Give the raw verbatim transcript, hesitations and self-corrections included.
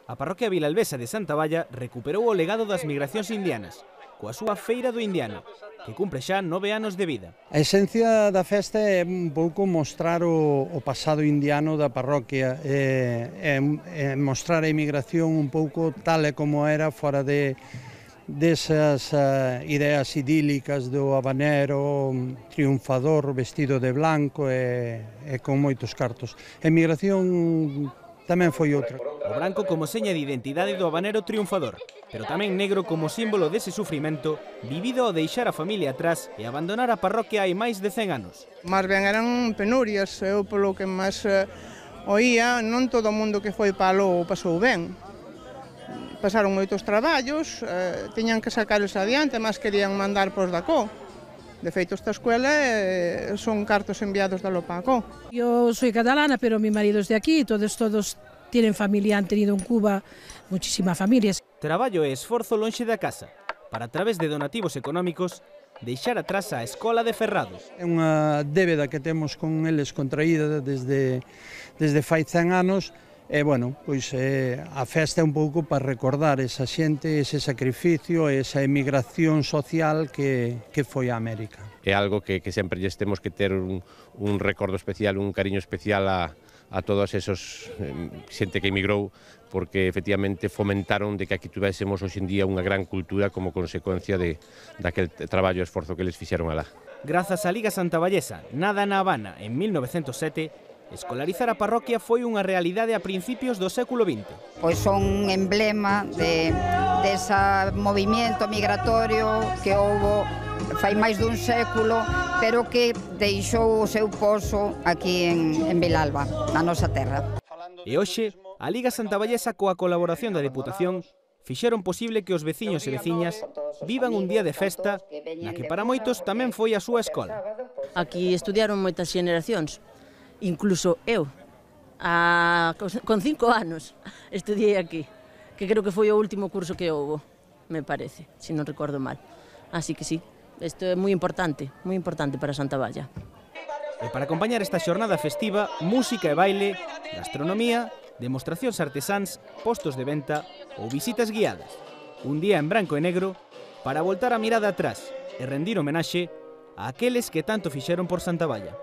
A parroquia vilalbesa de Santa Valla recuperou o legado das migracións indianas, coa súa Feira do Indiano, que cumpre xa nove anos de vida. A esencia da festa é un pouco mostrar o, o pasado indiano da parroquia, e, e, e mostrar a emigración un pouco tal e como era fora de desas uh, ideas idílicas do habanero triunfador vestido de blanco e, e con moitos cartos. A emigración tamén foi outra. O branco como seña de identidade do habanero triunfador, pero tamén negro como símbolo dese sufrimento vivido ao deixar a familia atrás e abandonar a parroquia hai máis de cen anos. Más ben eran penurias, eu polo que máis eh, oía, non todo o mundo que foi palo pasou ben. Pasaron moitos traballos, eh, tiñan que sacarlos adiante, mas querían mandar pos da C O. De feito, esta escuela eh, son cartos enviados da Lopaco. Yo soy catalana, pero mi marido es de aquí, todos todos tienen familia, han tenido en Cuba muchísimas familias. Traballo e esforzo lonxe da casa, para a través de donativos económicos, deixar atrás a escola de Ferrados. É unha débeda que temos con eles contraída desde, desde fai cen anos, e, bueno, pois eh, a festa é un pouco para recordar esa xente, ese sacrificio, esa emigración social que, que foi a América. É algo que, que sempre lles temos que ter un, un recordo especial, un cariño especial a, a todos esos eh, xente que emigrou, porque efectivamente fomentaron de que aquí tuvésemos hoxe en día unha gran cultura como consecuencia de daquel traballo e esforzo que les fixeron alá. Grazas á Liga Santavallesa, nada na Habana en mil novecentos sete, escolarizar a parroquia foi unha realidade a principios do século vinte. Pois son un emblema de, desa movimento migratorio que houbo fai máis dun século, pero que deixou o seu pozo aquí en, en Vilalba, na nosa terra. E hoxe, a Liga Santavallesa coa colaboración da Deputación fixeron posible que os veciños e veciñas vivan un día de festa na que para moitos tamén foi a súa escola. Aquí estudiaron moitas xeneracións. Incluso eu, a, con cinco anos, estudiei aquí, que creo que foi o último curso que houve, me parece, se non recordo mal. Así que sí, isto é moi importante, moi importante para Santa Valla. E para acompañar esta xornada festiva, música e baile, gastronomía, demostracións artesáns, postos de venta ou visitas guiadas. Un día en branco e negro para voltar a mirada atrás e rendir homenaxe a aqueles que tanto fixeron por Santa Valla.